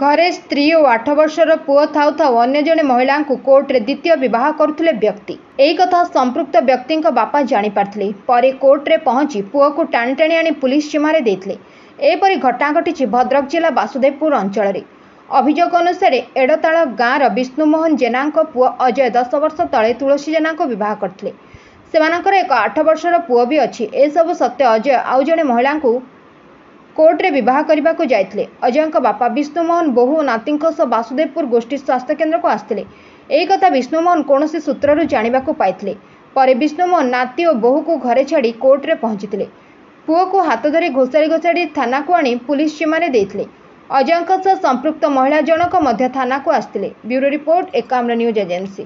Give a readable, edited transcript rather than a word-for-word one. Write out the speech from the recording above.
ଘରେ ସ୍ତ୍ରୀ ଓ 8 ବର୍ଷର ପୁଅ ଥାଉ ଥାଉ ଅନ୍ୟ ଜଣେ ମହିଳାଙ୍କୁ କୋର୍ଟରେ ଦ୍ୱିତୀୟ ବିବାହ କରୁଥିଲେ ବ୍ୟକ୍ତି। ଏହି କଥା ସମ୍ପୃକ୍ତ ବ୍ୟକ୍ତିଙ୍କ ବାପା ଜାଣିପାରିଥିଲେ। ପରେ କୋର୍ଟରେ ପହଞ୍ଚି ପୁଅକୁ ଟାଣି ଟାଣି ଆଣି ପୁଲିସ ଜିମାରେ ଦେଇଥିଲେ। ଏପରି ଘଟଣା ଘଟିଛି ଭଦ୍ରକ ଜିଲ୍ଲା ବାସୁଦେବପୁର ଅଞ୍ଚଳରେ। ଅଭିଯୋଗ ଅନୁସାରେ, ଏଡ଼ତାଳ ଗାଁର ବିଷ୍ଣୁମୋହନ ଜେନାଙ୍କ ପୁଅ ଅଜୟ 10 ବର୍ଷ ତଳେ ତୁଳସୀ ଜେନାଙ୍କୁ ବିବାହ କରିଥିଲେ। ସେମାନଙ୍କର ଏକ 8 ବର୍ଷର ପୁଅ ବି ଅଛି। ଏସବୁ ସତ୍ତ୍ୱେ ଅଜୟ ଆଉ ଜଣେ ମହିଳାଙ୍କୁ କୋର୍ଟରେ ବିବାହ କରିବାକୁ ଯାଇଥିଲେ। ଅଜୟଙ୍କ ବାପା ବିଷ୍ଣୁମୋହନ ବୋହୂ ଓ ନାତିଙ୍କ ସହ ବାସୁଦେବପୁର ଗୋଷ୍ଠୀ ସ୍ୱାସ୍ଥ୍ୟକେନ୍ଦ୍ରକୁ ଆସିଥିଲେ। ଏହି କଥା ବିଷ୍ଣୁମୋହନ କୌଣସି ସୂତ୍ରରୁ ଜାଣିବାକୁ ପାଇଥିଲେ। ପରେ ବିଷ୍ଣୁମୋହନ ନାତି ଓ ବୋହୂକୁ ଘରେ ଛାଡ଼ି କୋର୍ଟରେ ପହଞ୍ଚିଥିଲେ। ପୁଅକୁ ହାତ ଧରି ଘୋଷାଡ଼ି ଘୋଷାଡ଼ି ଥାନାକୁ ଆଣି ପୁଲିସ ଜିମାରେ ଦେଇଥିଲେ। ଅଜୟଙ୍କ ସହ ସମ୍ପୃକ୍ତ ମହିଳା ଜଣକ ମଧ୍ୟ ଥାନାକୁ ଆସିଥିଲେ। Bureau report, Ekamra news agency.